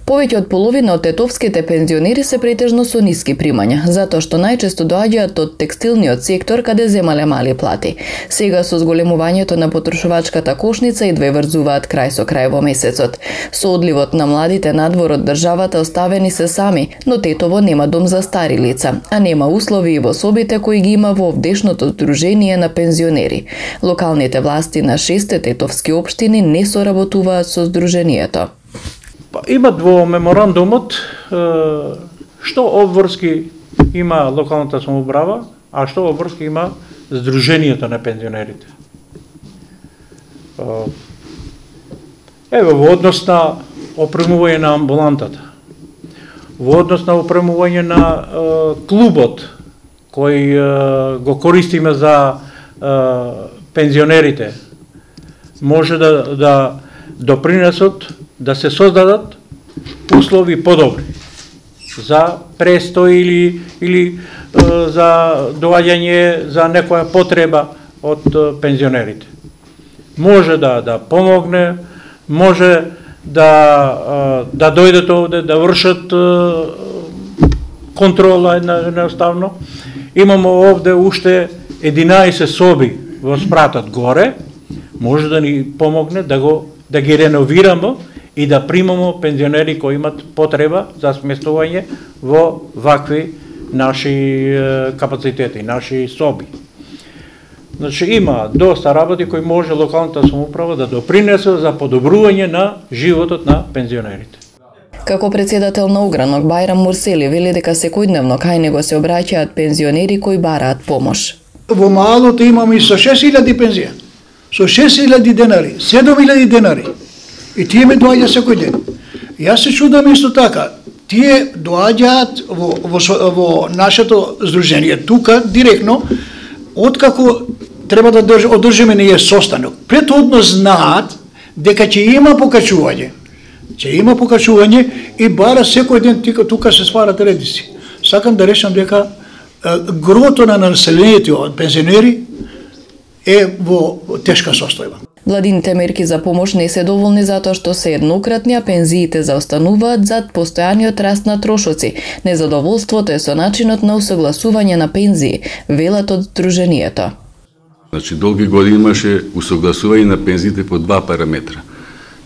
Повеќе од половина од тетовските пензионери се претежно со ниски примања, затоа што најчесто доаѓаат од текстилниот сектор каде земале мали плати. Сега со зголемувањето на потрошувачката кошница идва и врзуваат крај со крај во месецот. Со одливот на младите надвор од државата оставени се сами, но Тетово нема дом за стари лица, а нема услови и во собите кои ги има во овдешното Сдружение на пензионери. Локалните власти на 6 тетовски општини не соработуваат со Сдруженијето. Имат во меморандумот што обврски има локалната самоуправа, а што обврски има Сдруженијето на пензионерите. Во однос на опремување на амбулантата, во однос на опремување на клубот кој го користиме за пензионерите, може да допринесат да се создадат услови подобри за престој или за доаѓање за некоја потреба од пензионерите. Може да помогне, може да дојдат овде, да вршат контрола едноставно. Имаме овде уште 11 соби во спратот горе, може да ни помогне да ги реновираме и да примаме пензионери кои имат потреба за сместување во вакви наши капацитети, наши соби. Значи има доста работи кои може локалната самоуправа да допринесе за подобрување на животот на пензионерите. Како председател на Огранок Бајрам Мурсели вели дека секојдневно кај него се обраќаат пензионери кои бараат помош. Во малото имаме и со 6000 пензија, со 6000 денари, 7000 денари. И тие ме доаѓа секој ден. Јас се чудам исто така. Тие доаѓаат во нашето здружение тука директно, откако треба да одржиме ние состанок. Претходно знаат дека ќе има покачување. Ќе има покачување и бара секој ден тука се сварат редици. Сакам да речам дека грото на населението од пензионери е во тешка состојба. Владините мерки за помош не се доволни затоа што се еднократни, а пензиите заостануваат зад постојаниот раст на трошоци. Незадоволството е со начинот на усогласување на пензии, велат од Сдруженијето. Значи, долги години имаше усогласување на пензиите по два параметра.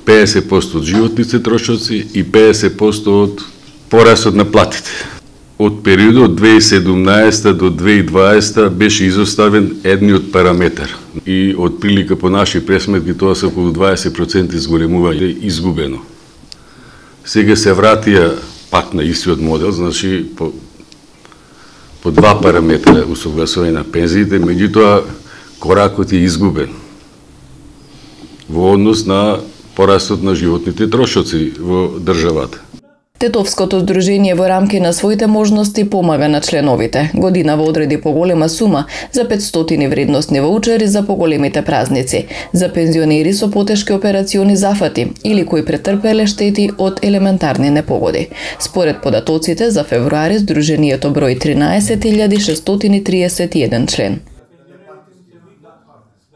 50% од животните трошоци и 50% од порасот на платите. Од периодот од 2017 до 2020 беше изоставен едниот параметар и од прилика по наши пресметки тоа се околу 20% изголемување изгубено. Сега се вратија пак на истиот модел, значи по два параметра усогласување на пензиите, меѓутоа коракот е изгубен во однос на порастот на животните трошоци во државата. Тетовското здружение во рамки на своите можности помага на членовите. Годинава одреди поголема сума за 500 вредносни ваучери за поголемите празници, за пензионери со потешки операциони зафати или кои претрпеле штети од елементарни непогоди. Според податоците за февруари здруженијето брои 13.631 член.